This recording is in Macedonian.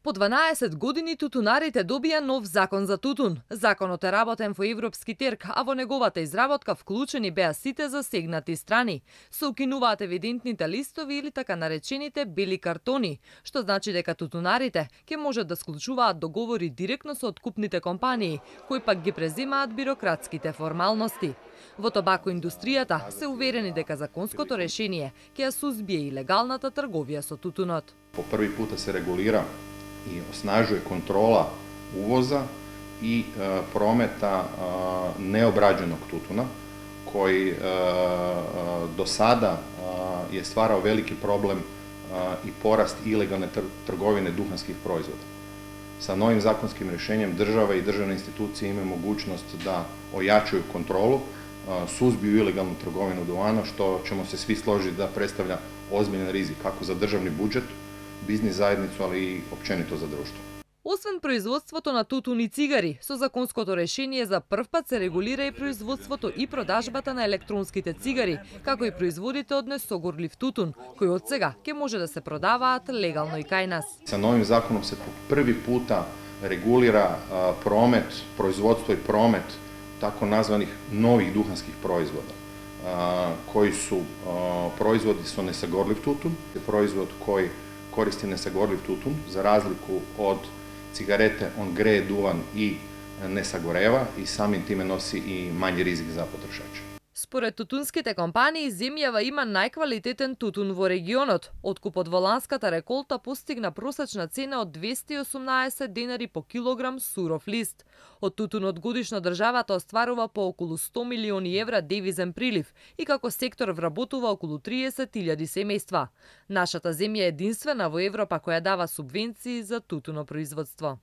По 12 години тутунарите добија нов закон за тутун. Законот е работен во европски терк, а во неговата изработка вклучени беа сите засегнати страни. Се укинуваат евидентните листови или така наречените бели картони, што значи дека тутунарите ќе можат да склучуваат договори директно со откупните компании, кои пак ги преземаат бирократските формалности. Во табакоиндустријата се уверени дека законското решение ќе ја сузбие и легалната трговија со тутунот. По први пута се регулира и осnažuje kontrola uvoza i prometa neobrađenog tutuna, koji do sada je stvarao veliki problem i porast ilegalne trgovine duhanskih proizvoda. Sa novim zakonskim rješenjem država i državne institucije imaju mogućnost da ojačaju kontrolu, suzbiju ilegalnu trgovinu duvana, što ćemo se svi složiti da predstavlja ozbiljan rizik kako za državni budžet, бизнис заедницу, али и опćenito за друштво. Освен производството на тутун и цигари, со законското решение за прв пат се регулира и производството и продажбата на електронските цигари, како и производите од несогорлив тутун, кои од сега ќе може да се продаваат легално и кај нас. Sa novim zakonom se po prvi puta regulira promet, proizvodstvo i promet tako nazvanih novih duhanskih proizvoda, koji su proizvodi sa nesagorljiv tutun, proizvod koji koristi nesagorljiv tutun, za razliku od cigarete, on greje duvan i ne sagoreva i samim time nosi i manji rizik za potrošača. Според тутунските компании, земјава има најквалитетен тутун во регионот. Откупот во ланската реколта постигна просечна цена од 218 денари по килограм суров лист. Од тутунот годишно државата остварува по околу 100 милиони евра девизен прилив и како сектор вработува околу 30.000 семејства. Нашата земја е единствена во Европа која дава субвенции за тутунопроизводство.